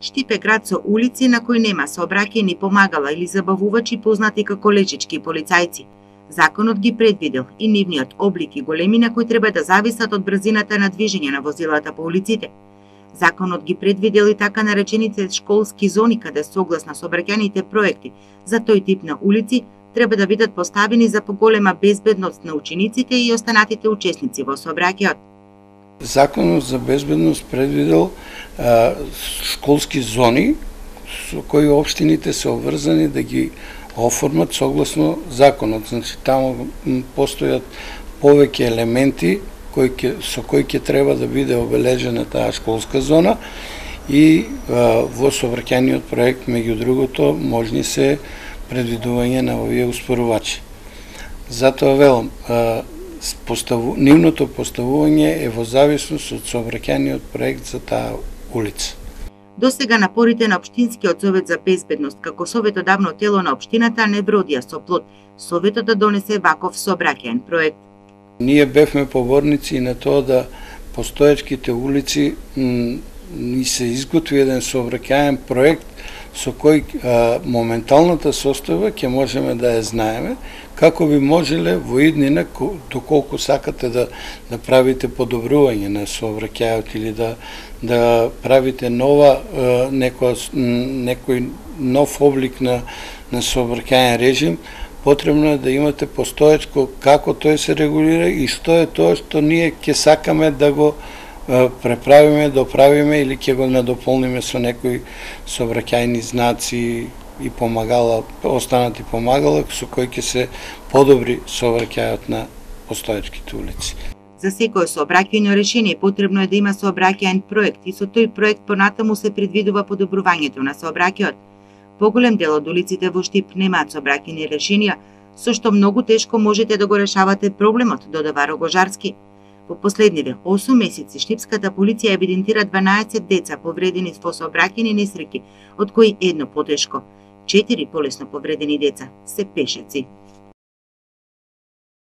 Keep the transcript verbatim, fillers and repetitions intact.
Штип е град со улици на кои нема сообраќајни помагала или забавувачи познати како лежички полицајци. Законот ги предвидел и нивниот облик и големина кои треба да зависат од брзината на движење на возилата по улиците. Законот ги предвидел и така наречените школски зони каде согласно сообраќајните проекти за тој тип на улици треба да бидат поставени за поголема безбедност на учениците и останатите учесници во сообраќајот. Законот за безбедност предвидел а, школски зони со кои општините се обврзани да ги оформат согласно законот. Значи таму постојат повеќе елементи кои ке, со кои ќе треба да биде обележена таа школска зона и а, во сообраќајниот проект меѓу другото можни се предвидување на овие успорувачи. Затоа велам, а, Поставу, нивното поставување е во зависност од сообраќајниот проект за таа улица. До сега напорите на Општинскиот совет за безбедност како советодавно тело на општината не бродија со плод советот да донесе ваков сообраќајен проект. Ние бевме поборници на тоа да постоечките улици ни се изготви еден сообраќајен проект со кој а, моменталната состојба ќе можеме да ја знаеме, како би можеле во иднина, доколку сакате да, да правите подобрување на сообраќајот или да, да правите нова, а, некој, некој нов облик на, на сообраќајен режим, потребно е да имате постоечко како тој се регулира и што е тоа што ние ќе сакаме да го преправиме, доправиме или ќе го надополниме со некои сообраќајни знаци и помагала, останати помагала со кои ќе се подобри сообраќајот на постоечките улици. За секое сообраќајно решение потребно е да има сообраќајен проект и со тој проект понатаму се предвидува подобрувањето на сообраќајот. Поголем дел од улиците во Штип немаат сообраќајни решенија, со што многу тешко можете да го решавате проблемот, додава Рогожарски. Во последниве осум месеци штипската полиција евидентира дванаесет деца повредени во сообраќајни несреќи, од кои едно потешко. Четири полесно повредени деца се пешаци.